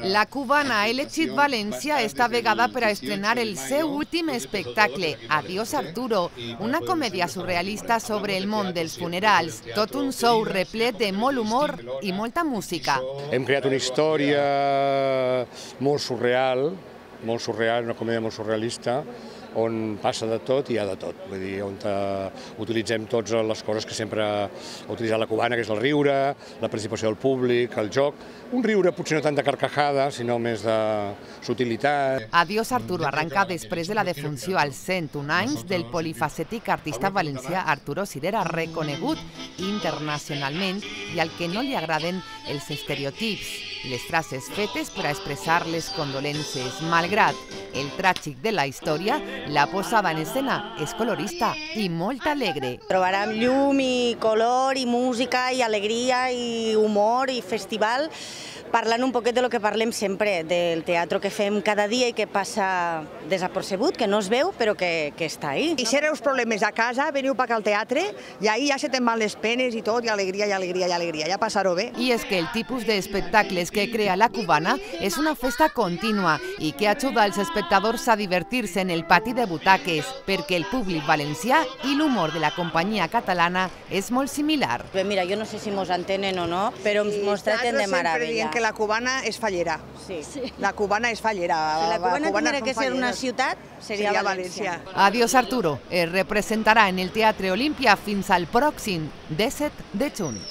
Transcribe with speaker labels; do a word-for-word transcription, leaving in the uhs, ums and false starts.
Speaker 1: La cubana ha elegit València esta vegada per a estrenar el seu últim espectacle, Adiós Arturo, una comèdia surrealista sobre el món dels funerals, tot un show replet de molt humor i molta música.
Speaker 2: Hem creat una història molt surreal, molt surreal, una comèdia molt surrealista, on passa de tot i hi ha de tot. Vull dir, on utilitzem totes les coses que sempre ha utilitzat la cubana, que és el riure, la participació del públic, el joc. Un riure potser no tant de carcajada, sinó més de sutilitat.
Speaker 1: Adiós Arturo arrenca després de la defunció als cent un anys del polifacètic artista valencià Arturo Sirera, reconegut internacionalment i al que no li agraden els estereotips i les frases fetes per a expressar les condolences. Malgrat el tràgic de la història, la posada en escena és colorista i molt alegre.
Speaker 3: Trobarem llum i color i música i alegria i humor i festival, parlant un poquet de lo que parlem sempre, del teatre que fem cada dia i que passa desapercebut, que no es veu però que, que està ahí.
Speaker 4: I si els problemes a casa, veniu per al teatre i ahí ja se te'n van les penes i tot, i alegria, i alegria, i alegria, ja passar-ho bé.
Speaker 1: I és que el tipus d'espectacles que crea la cubana és una festa contínua i que ajuda als espectadors a divertir-se en el pati de butaques, perquè el públic valencià i l'humor de la companyia catalana és molt similar.
Speaker 3: Bé, mira, jo no sé si mos entenen o no, però mos traten de meravella.
Speaker 4: Que la cubana és fallera.
Speaker 3: Sí.
Speaker 4: La cubana és fallera.
Speaker 3: Si la cubana tindria que ser una ciutat, seria València.
Speaker 1: Adiós Arturo es representarà en el Teatre Olímpia fins al pròxim disset de juny.